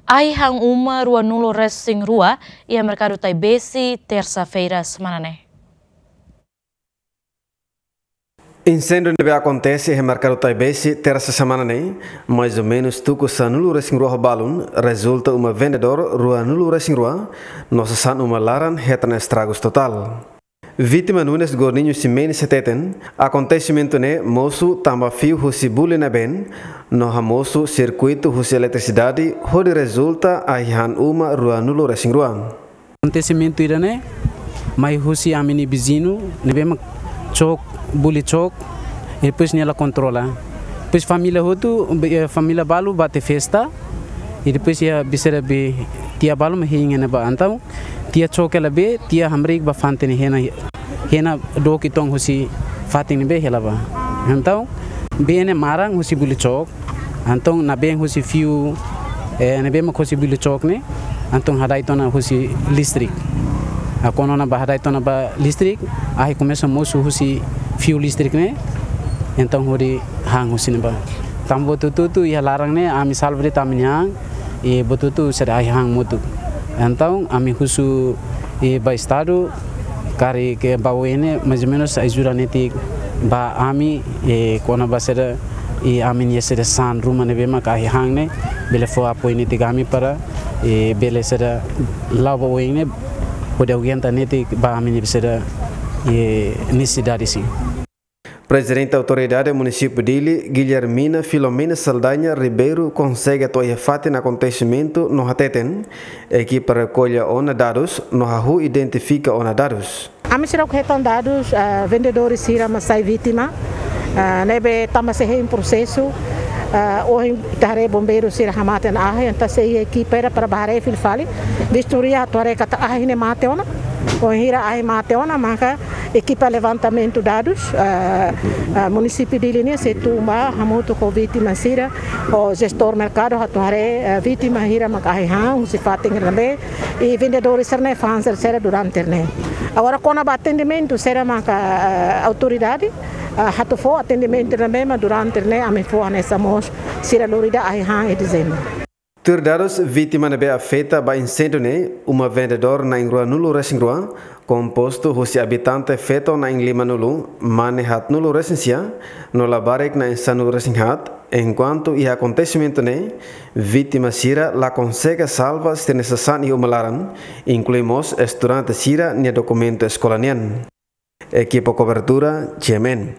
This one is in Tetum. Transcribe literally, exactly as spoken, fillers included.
Ahi han uma ruanulu-resin-rua iha Merkadu Taibesi, tersa-feira semana ne'e. Inséndiu ne'ebé akontese iha Merkadu Taibesi, tersa semana ne'e, mais ou menus tuku sanulu-resin-rua ho balun, rezulta uma vendedór ruanulu-resin-rua, no sasán uma laran hetan estragus totál. Vítima Nunes Gorninho Ximenes hateten, akontesimentu ne'e mosu tanba fiu husi buli nabeen, no hamosu sirkuitu husi eletrisidade, hodi rezulta ahi han uma ruanulu-resin-rua. Akontesimentu ida-ne'e mai husi ami-nia viziñu ne'ebé mak cok, buli cok, i depois nia la kontrola. Depois família hotu, eh, família balu bá to'o festa, i depois iha besera be tia balu mak hein iha ne'ebá. Entaun tia cok hela be, tia hamriik ba fatin ne'e, hena, hena dook uitoan husi fatin ne'ebé hela bá. Entaun bee ne'e maran husi buli cok. Entaun nabeen husi fiu, eh, ne'ebé mak husi buli cok ne'e, entaun hada'et ona husi listrik. Ah, kuandu ona bá hada'et ona ba listrik, ahi komesa mosu husi fiu listrik ne'e, entaun hodi han husi ne'ebá. Tanba buat hotu-hotu iha laran ne'e, ami salva de'it ami-nia an, i buat hotu-hotu sira ahi han motuk. Entaun ami husu, i ba Estadu, karik bá oin ne'e, mais ou menus ajuda netik ba ami, i kona-ba sira, i ami-nia sira sasán ruma ne'ebé mak ahi han ne'e, bele fó apoiu netik ami para, i bele sira la'o ba oin ne'e, hodi aguenta netik ba ami-nia sira, i nesesidade sira. Prezidente Autoridade Munisípiu Dili, Guilhermina Filomena Saldanha Ribeiro, konsege to'o iha fatin akontesimentu no hateten, ekipa rekolla ona dadus no hahú identifika ona dadus. Ami seidauk hetan dadus, ah, vendedór sira mak sai vítima, ah, ne'ebé tanba sei hein prosesu, ah, ohin ita haree bombeiru sira hamate ona ahi, entaun sei iha ekipa ida para bá haree fila fali, vistoria atu haree katak ahi ne'e mate ona, ohin hira ahi mate ona, maka ekipa levantamentu dadus, ah, ah, Munisípiu Dili nian sei tun bá hamutuk ho vítima sira, ho jestór merkadu atu haree, ah, vítima hira mak ahi han husi fatin ne'ebé, i vendedór sira-ne'e fa'an sira durante ne'e. Agora kona-ba atendimentu sira maka, ah, autoridade, ah, atu fó atendimentu ne'ebé mak durante ne'e ami fó hanesan mós sira lori ida ahi han iha dezembru. Tuir dadus, vítima ne'ebé afeta ba inséndiu ne'e, uma vendedór na'in ruanulu-resin-rua, kompostu husi abitante feto na'in limanulu, mane haatnulu-resin-sia, no labarik na'in sanulu-resin-haat, enkuantu iha akontesimentu ne'e, vítima sira la konsege salva sira-nia sasán iha uma laran, inklui mós estudante sira-nia dokumentu eskola nian. Ekipa kobertura, G M N.